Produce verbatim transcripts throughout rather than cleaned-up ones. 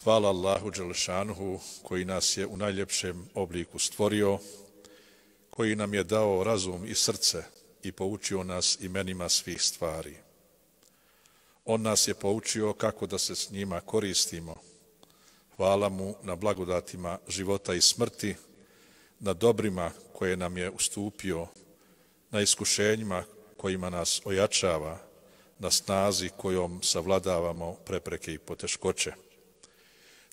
Hvala Allahu Đelešanuhu koji nas je u najljepšem obliku stvorio, koji nam je dao razum i srce i poučio nas imenima svih stvari. On nas je poučio kako da se s njima koristimo. Hvala mu na blagodatima života i smrti, na dobrima koje nam je ustupio, na iskušenjima kojima nas ojačava, na snazi kojom savladavamo prepreke i poteškoće.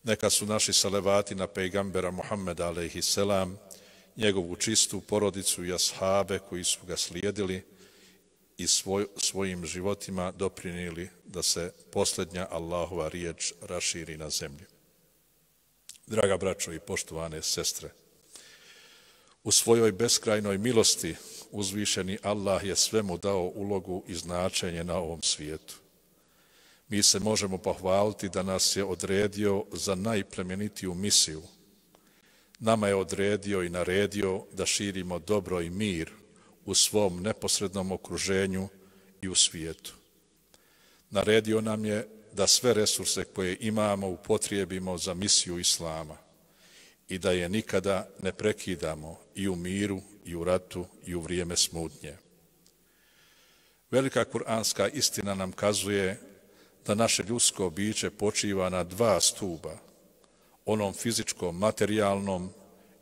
Neka su naši salavati na pejgambera Muhammeda alejhi selam, njegovu čistu porodicu i ashabe koji su ga slijedili i svoj, svojim životima doprinijeli da se posljednja Allahova riječ raširi na zemlji. Draga braćo i poštovane sestre, u svojoj beskrajnoj milosti uzvišeni Allah je svemu dao ulogu i značenje na ovom svijetu. Mi se možemo pohvaliti da nas je odredio za najplemenitiju misiju. Nama je odredio i naredio da širimo dobro i mir u svom neposrednom okruženju i u svijetu. Naredio nam je da sve resurse koje imamo upotrijebimo za misiju Islama i da je nikada ne prekidamo i u miru, i u ratu, i u vrijeme smutnje. Velika kuranska istina nam kazuje da naše ljudsko biće počiva na dva stuba, onom fizičkom, materijalnom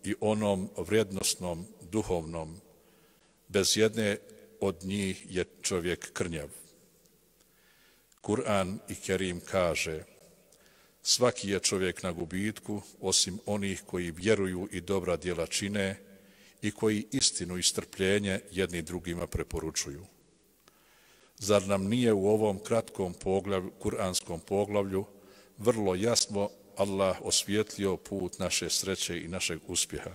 i onom vrijednosnom, duhovnom. Bez jedne od njih je čovjek krnjav. Kur'an i Kerim kaže: svaki je čovjek na gubitku, osim onih koji vjeruju i dobra djela čine i koji istinu i strpljenje jedni drugima preporučuju. Zar nam nije u ovom kratkom poglavlju, kuranskom poglavlju vrlo jasno Allah osvijetlio put naše sreće i našeg uspjeha?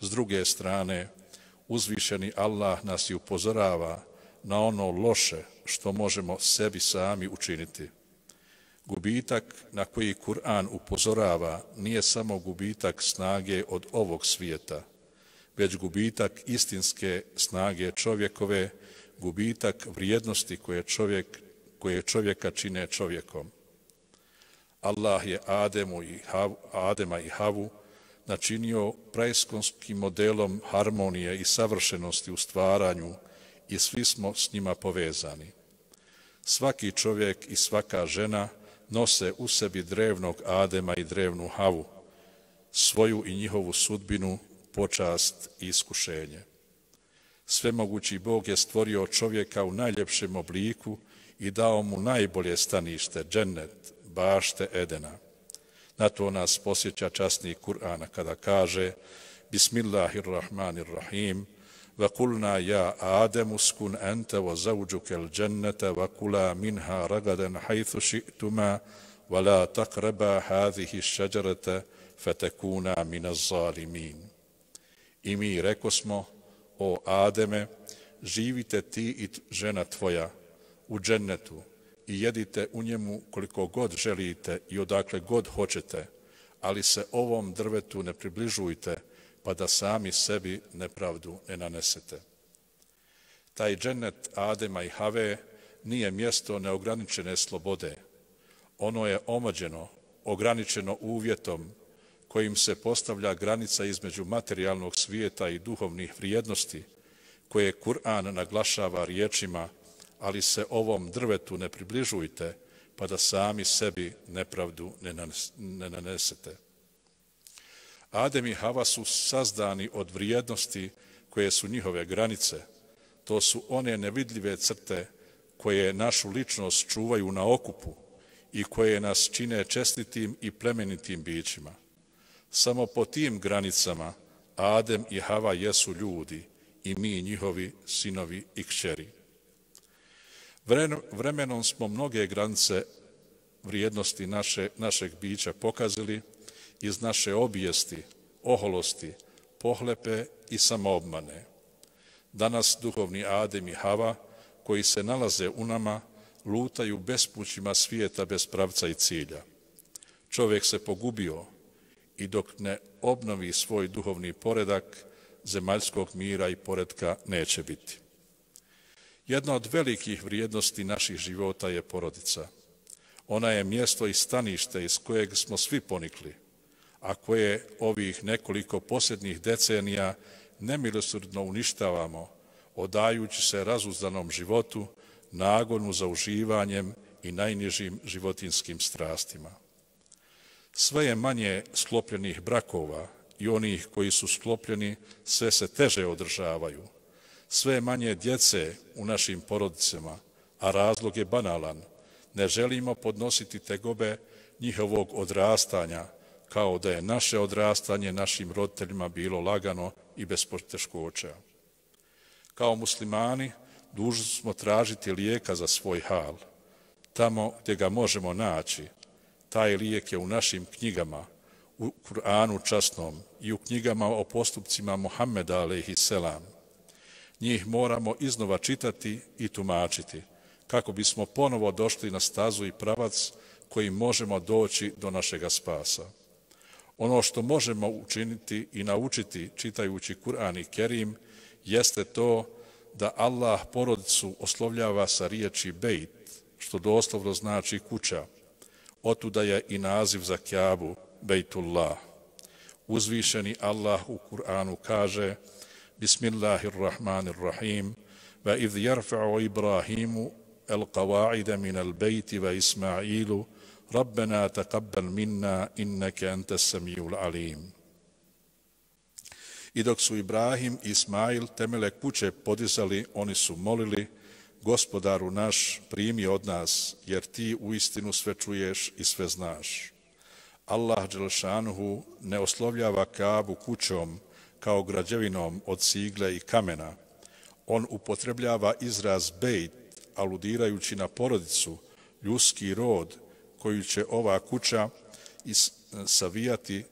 S druge strane, uzvišeni Allah nas i upozorava na ono loše što možemo sebi sami učiniti. Gubitak na koji Kur'an upozorava nije samo gubitak snage od ovog svijeta, već gubitak istinske snage čovjekove, gubitak vrijednosti koje, čovjek, koje čovjeka čine čovjekom. Allah je Ademu i Havu, Adema i Havu načinio praiskonskim modelom harmonije i savršenosti u stvaranju i svi smo s njima povezani. Svaki čovjek i svaka žena nose u sebi drevnog Adema i drevnu Havu, svoju i njihovu sudbinu, počast i iskušenje. Svemogući Bog je stvorio čovjeka u najljepšem obliku i dao mu najbolje stanište, džennet, bašte Edena. Na to nas posjeća časni Kur'ana kada kaže: Bismillahirrahmanirrahim, wa kulna ja Ademu skun ente wa zawđukel džennete wa kula minha ragaden hajthu ši'tuma wa la takreba hadhihi šeđarete fetekuna minaz zalimin. I mi rekosmo: o Ademe, živite ti i žena tvoja u džennetu i jedite u njemu koliko god želite i odakle god hoćete, ali se ovom drvetu ne približujte, pa da sami sebi nepravdu ne nanesete. Taj džennet Adema i Have nije mjesto neograničene slobode. Ono je omađeno, ograničeno uvjetom kojim se postavlja granica između materijalnog svijeta i duhovnih vrijednosti, koje Kur'an naglašava riječima: ali se ovom drvetu ne približujte, pa da sami sebi nepravdu ne nanesete. Adem i Hava su sazdani od vrijednosti koje su njihove granice. To su one nevidljive crte koje našu ličnost čuvaju na okupu i koje nas čine čestitim i plemenitim bićima. Samo po tim granicama Adem i Hava jesu ljudi i mi njihovi sinovi i kćeri. Vremenom smo mnoge granice vrijednosti naše, našeg bića pokazali iz naše obijesti, oholosti, pohlepe i samoobmane. Danas duhovni Adem i Hava, koji se nalaze u nama, lutaju bespućima svijeta bez pravca i cilja. Čovjek se pogubio i dok ne obnovi svoj duhovni poredak, zemaljskog mira i poretka neće biti. Jedna od velikih vrijednosti naših života je porodica. Ona je mjesto i stanište iz kojeg smo svi ponikli, a koje ovih nekoliko posljednjih decenija nemilosrdno uništavamo, odajući se razuzdanom životu, nagonu za uživanjem i najnižim životinskim strastima. Sve je manje sklopljenih brakova i onih koji su sklopljeni sve se teže održavaju. Sve je manje djece u našim porodicama, a razlog je banalan. Ne želimo podnositi tegobe njihovog odrastanja, kao da je naše odrastanje našim roditeljima bilo lagano i bez poteškoća. Kao muslimani dužni smo tražiti lijeka za svoj hal. Tamo gdje ga možemo naći, taj lijek je u našim knjigama, u Kur'anu časnom i u knjigama o postupcima Muhammeda alejhi selam. Njih moramo iznova čitati i tumačiti, kako bismo ponovo došli na stazu i pravac koji možemo doći do našega spasa. Ono što možemo učiniti i naučiti čitajući Kur'an i Kerim jeste to da Allah porodicu oslovljava sa riječi bejt, što doslovno znači kuća. Otuda je i naziv za Kjabu, Bejtullah. Uzvišeni Allah u Kur'anu kaže Bismillahirrahmanirrahim Va idh jarfa'u Ibrahimu al-qawa'ida min al-bejti va Ismailu Rabbena taqabbal minna inneke ente samijul alim. I dok su Ibrahim i Ismail temele kuće podizali, oni su molili, Gospodaru naš, primi od nas, jer ti uistinu sve čuješ i sve znaš. Allah dželšanuhu ne oslovljava Kaabu kućom kao građevinom od cigle i kamena. On upotrebljava izraz bejt, aludirajući na porodicu, ljudski rod, koju će ova kuća savijati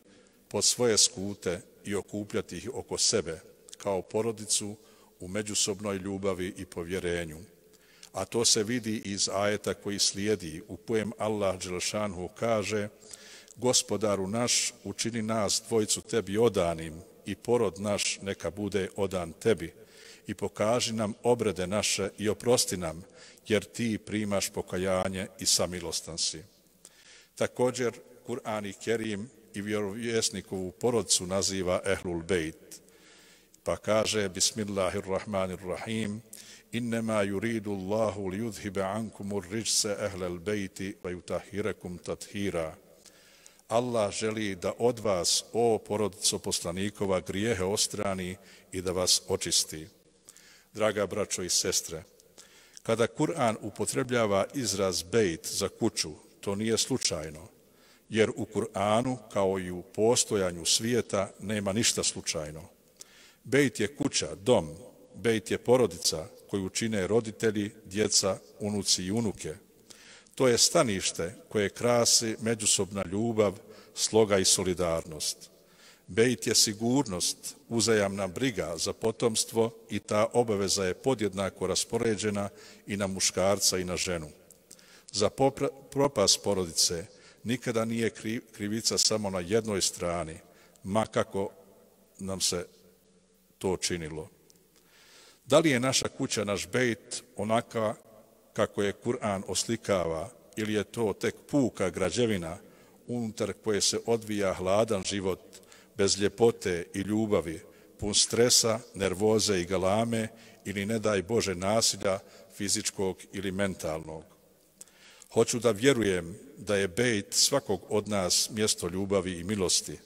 pod svoje skute i okupljati ih oko sebe, kao porodicu u međusobnoj ljubavi i povjerenju. A to se vidi iz ajeta koji slijedi, u kojem Allah dželšanuhu kaže Gospodaru naš, učini nas dvojicu tebi odanim i porod naš neka bude odan tebi i pokaži nam obrede naše i oprosti nam, jer ti primaš pokajanje i samilostan si. Također, Kur'an i Kerim i vjerovjesnikovu porodcu naziva Ehlul Bejt, pa kaže Bismillahirrahmanirrahim Innema yuridu Allahu li yudhiba ankumur rijse ehlel bejti va yutahhirakum tathira. Allah želi da od vas, o porodico poslanikova, grijehe ostrani i da vas očisti. Draga braćo i sestre, kada Kur'an upotrebljava izraz bejt za kuću, to nije slučajno, jer u Kur'anu, kao i u postojanju svijeta, nema ništa slučajno. Bejt je kuća, dom, bejt je porodica koju čine roditelji, djeca, unuci i unuke. To je stanište koje krasi međusobna ljubav, sloga i solidarnost. Bejt je sigurnost, uzajamna briga za potomstvo i ta obaveza je podjednako raspoređena i na muškarca i na ženu. Za propast porodice nikada nije krivica samo na jednoj strani, ma kako nam se to činilo. Da li je naša kuća naš bejt onaka kako je Kur'an oslikava ili je to tek puka građevina unutar koje se odvija hladan život bez ljepote i ljubavi, pun stresa, nervoze i galame ili ne daj Bože nasilja fizičkog ili mentalnog. Hoću da vjerujem da je bejt svakog od nas mjesto ljubavi i milosti.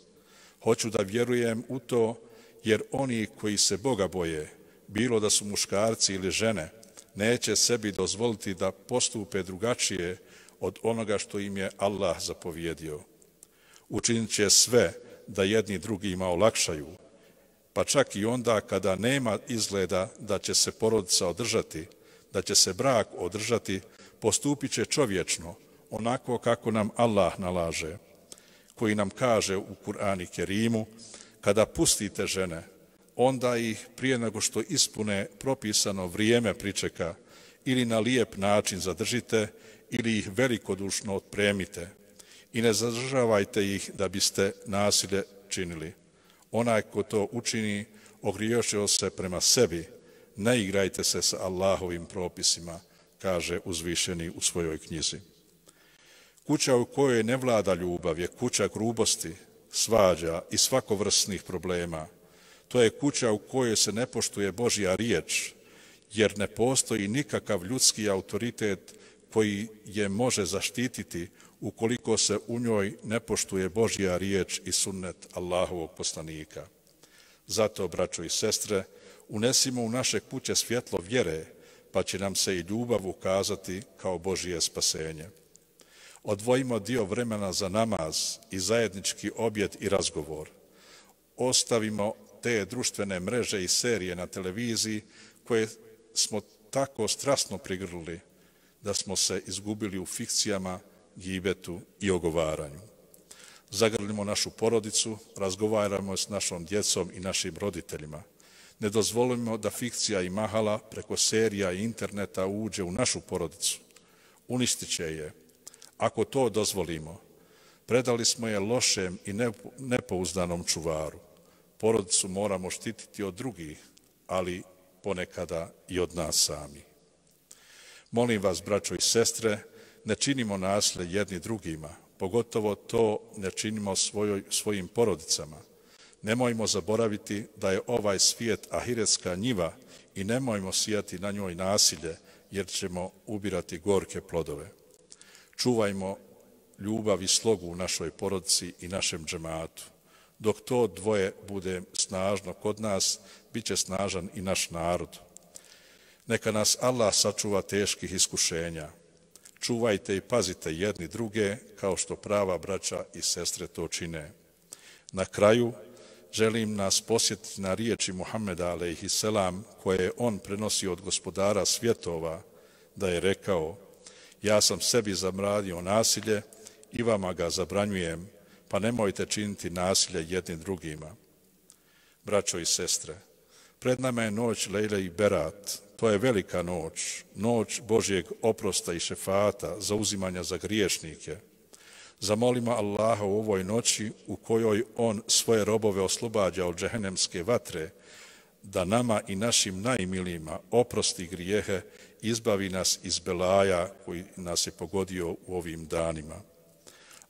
Hoću da vjerujem u to jer oni koji se Boga boje, bilo da su muškarci ili žene, neće sebi dozvoliti da postupe drugačije od onoga što im je Allah zapovjedio. Učinit će sve da jedni drugima olakšaju, pa čak i onda kada nema izgleda da će se porodica održati, da će se brak održati, postupit će čovječno, onako kako nam Allah nalaže, koji nam kaže u Kur'anu i Kerimu, kada pustite žene, onda ih prije nego što ispune propisano vrijeme pričeka ili na lijep način zadržite ili ih velikodušno otpremite i ne zadržavajte ih da biste nasilje činili. Onaj ko to učini, ogriješio se prema sebi, ne igrajte se sa Allahovim propisima, kaže uzvišeni u svojoj knjizi. Kuća u kojoj ne vlada ljubav je kuća grubosti, svađa i svakovrsnih problema. To je kuća u kojoj se ne poštuje Božja riječ, jer ne postoji nikakav ljudski autoritet koji je može zaštititi ukoliko se u njoj ne poštuje Božja riječ i sunnet Allahovog poslanika. Zato, braćo i sestre, unesimo u naše kuće svjetlo vjere, pa će nam se i ljubav ukazati kao Božje spasenje. Odvojimo dio vremena za namaz i zajednički objed i razgovor. Ostavimo te društvene mreže i serije na televiziji koje smo tako strasno prigrlili da smo se izgubili u fikcijama, gibetu i ogovaranju. Zagrlimo našu porodicu, razgovaramo s našom djecom i našim roditeljima. Ne dozvolimo da fikcija i mahala preko serija i interneta uđe u našu porodicu. Uništit će je. Ako to dozvolimo, predali smo je lošem i nepouzdanom čuvaru. Porodicu moramo štititi od drugih, ali ponekada i od nas sami. Molim vas, braćo i sestre, ne činimo nasilje jedni drugima, pogotovo to ne činimo svojoj, svojim porodicama. Nemojmo zaboraviti da je ovaj svijet ahiretska njiva i nemojmo sijati na njoj nasilje, jer ćemo ubirati gorke plodove. Čuvajmo ljubav i slogu u našoj porodici i našem džematu. Dok to dvoje bude snažno kod nas, bit će snažan i naš narod. Neka nas Allah sačuva teških iskušenja. Čuvajte i pazite jedni druge, kao što prava braća i sestre to čine. Na kraju, želim nas posjetiti na riječi Muhameda alejhiselam, koje je on prenosio od gospodara svjetova, da je rekao: ja sam sebi zabranio nasilje i vama ga zabranjujem, pa nemojte činiti nasilje jednim drugima. Braćo i sestre, pred nama je noć Lejle i Berat. To je velika noć, noć Božjeg oprosta i šefata, zauzimanja za griješnike. Zamolimo Allaha u ovoj noći u kojoj on svoje robove oslobađa od džehennemske vatre, da nama i našim najmilijima oprosti grijehe, izbavi nas iz belaja koji nas je pogodio u ovim danima.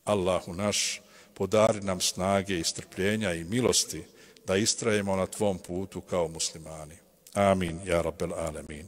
Allahu naš, podari nam snage i strpljenja i milosti da istrajemo na tvom putu kao muslimani. Amin, ja rabbel alemin.